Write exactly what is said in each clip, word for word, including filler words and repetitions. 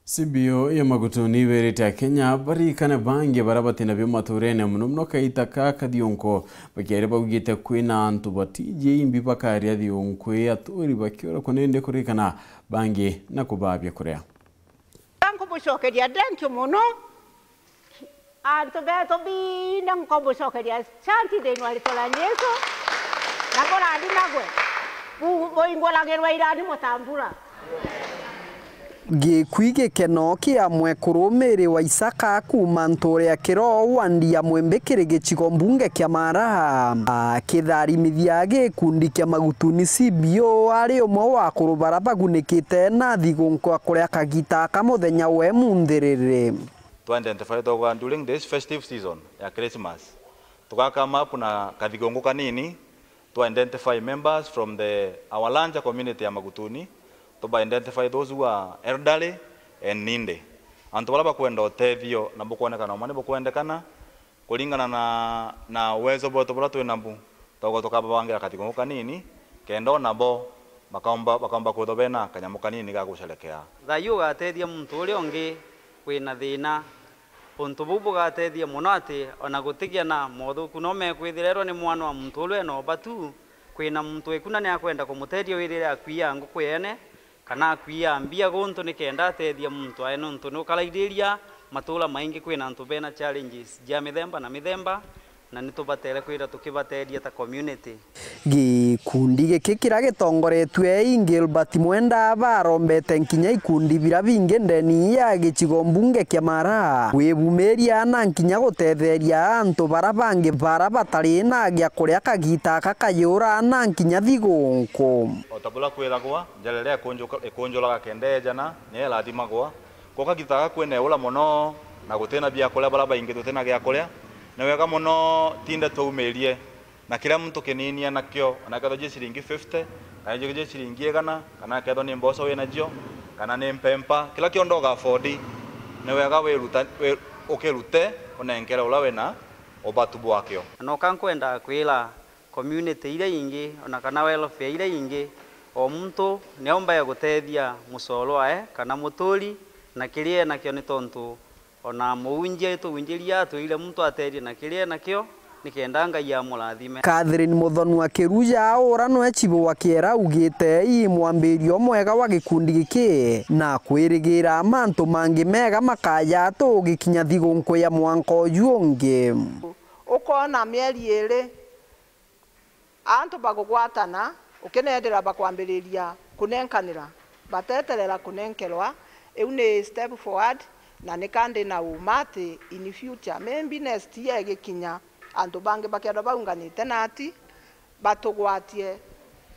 C B O ya Magutuni iberete Akenya barikane bangi baria batina bio maturene, mono mono kaita ka Kathionko, bakiaria baugite kwina antu batiji imbi bakaria thionko ii aturi bakiura kunende kurikana bangi na kubaa biakuria. Nkubucokeria thank you mono. Antu betu bina nkobucokeria shanti thiini wa ritwa ria Jesu, na burathimagwe, bu-, buinguragirwe irathimo ta mbura. Gikui gikeno kia mwekuru Mary wa Isaka kuuma nture ya Kiroo wandi ya Mwembe kiri gicigo mbunge kia Mara, akitharimithia gikundi kia Magutuni C B O ari umwe wa akuru bara bagunikite na thigunku ya kuria kagita ka muthenya we munthiriri. Twa identify twaga during this festive season ya Christmas, tuga come up na kathigongo kanini, twa identify members from the, our larger community ya Magutuni, tuba identify those who are elderly and needy, antu baria bakwenda utethio na bukwonekana uma ni bukwendekana, kuringana na, na uwezo bwetu buria twi nabu. Togo tukababangira kathigongo kanini, kenda o nabo bakaumba, bakaumba kwithwa bena kanyamu kanini ga gusherekea. Thayu ugatethia muntu uria ungi wina thina. Untu buu bugatethia mono ati ona gutigia na mothuku no mekwithira erwa ni mwana wa muntu uria ena ubatu, kwina muntu wikuna ni akwenda kumutethia wirire akuia nguku yene, kana akuia mbia guntu nikenda atethia muntu ae, nontu ni ukaraithiria matura maingi kwina antu bena challenges ja mithemba na mithemba, na ni tubatere kwira tukibateethia ta community. Gikundi giki kiria gitongoretue i Gilbert Mwenda barombete nkinya ikundi biria bingi ndeni ya gicigo mbunge kia Mara kwibumiria na nkinya gutetheria antu bara bangi bara batari na gia kuria kagita aka kayura na nkinya thigunku. O ta buria kwiragwa, njara iria ikunjuka-, ikunjuraga kenda ejana, niyo irathimagwa. Koka gitaga kwina eura mono, na gutina biakuria, bara baingi tutina giakuria, ni wega mono tinde twaumirie na kiria muntu kinini enakio, ona kethirwa gi ciringi fifty, kana gi ciringi igana, kana kethirwa ni mboco winacio, kana ni mpempa, kiria kionthe uga afford, ni wega wiruta-, wi-, ukirute unenkere uria wina ubatu bwakio. Na noka nkwenda kwira community iria ingi, ona kana welfare iria ingi, o muntu niombae gutethia mucoro wae kana muturi na kiria enakio, ni tontu ona muunjia ituunjiria atwire muntu atethie na kiria enakio, nikenda Ngai amurathime. Catherine Muthonua Kiruja, ura nwe cibu wa Kiera, augite ii mwambirio mwega wa gikundi giki, na kwirigira mantu mangi mega makaja tugikinya thigunku ya mwanka uju ungi. Ukoona mieri iri, antu bagugwatana, ukinethira bakwambiriria kunenkanira, bateterera kunenkerwa, iu ni step forward, na nika ndi na uma ati in future, maybe next year igikinya, antu bangi bakethirwa baunganite nati, batugwatie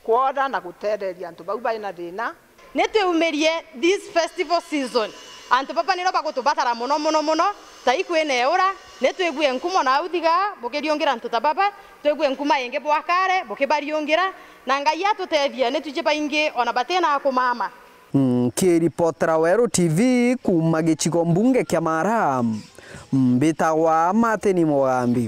kwona na gutetheria antu bau bai na thina. Ni twiumirie this festival season. Antu baba niro bagutubatara mono, mono, mono. Tai kwina eura, ni twigue nkumo na uthiga bukiriungira antu ta baba, twigue nkuma ingi bwakare bukibariungira, na Ngai atutethia, ni twiji baingi ona batina kumama. Nkiripotera Weru T V kuuma gicigo mbunge kia Mara, mbitagwa Martin Mugambi.